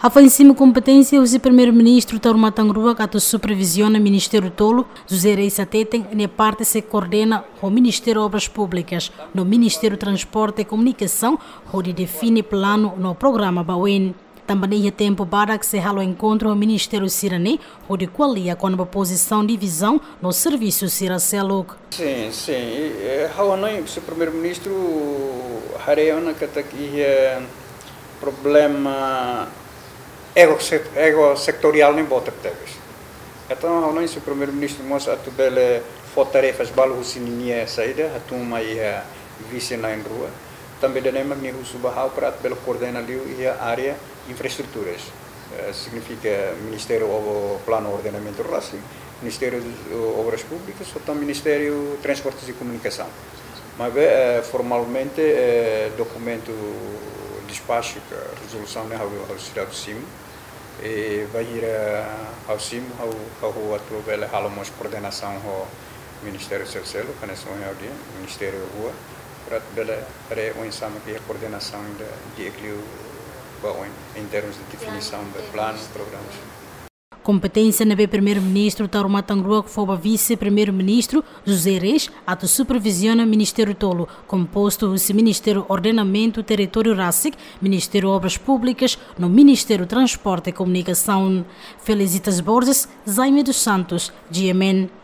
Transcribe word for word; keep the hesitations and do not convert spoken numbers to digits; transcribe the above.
Hafoin simu kompeténsia husi Primeiru-Ministru Taur Matan Ruak atu superviziona ministériu tolu, José Reis hateten nia parte sei koordena ho Ministériu Obras Públikas no Ministériu Transporte e Komunikasaun, hodi define planu no programa ba oin. Tanba ne'e iha tempu badak sei halo enkontru ho ministériu sira-ne'e, hodi ko'alia kona-ba pozisaun, divizaun no servisu sira seluk. Sin, sin. I, eh, ha'u hanoin husi Primeiru-Ministru haree ona katak iha problema ego se-, ego setoriál ne'e boot tebes. Entaun ha'u hanoin husi Primeiru-Ministru mós atu bele fó tarefas balu husi ninia saida, hatún mai iha vise na'in-rua. Tanba ida-ne'e mak nia husu ba ha'u para atu bele koordena liu iha área infraestruturas. Eh, signifika Ministériu Ob-, Planu Ordenamentu rasik, Ministériu, eh, Obras Públikas, ho tan Ministériu Transportes e Komunikasaun. Maibé, eh, formalmente, eh, dokumentu despaxu ka rezolusaun ne'e ha'u, ha'u seidauk simu. I bainhira ha'u simu, ha'u, ha'u atu bele halo mós koordenasaun ho ministériu seluk-seluk, hanesan ohin ha'u dehan, ministériu rua, para atu bele haree oinsá mak iha koordenasaun ida di'ak liu ba oin, em termos de definisaun de planu, programas. Kompeténsia ne'ebé Primeiru-Ministru Taur Matan Ruak fó ba Vise-Primeiru-Ministru José Reis atu superviziona ministériu tolu, kompostu husi Ministériu Ordenamentu Territóriu rasik, Ministériu Obras Públikas no Ministériu Transporte e Komunikasaun. Felicitas Borges, Jaime dos Santos, G M N.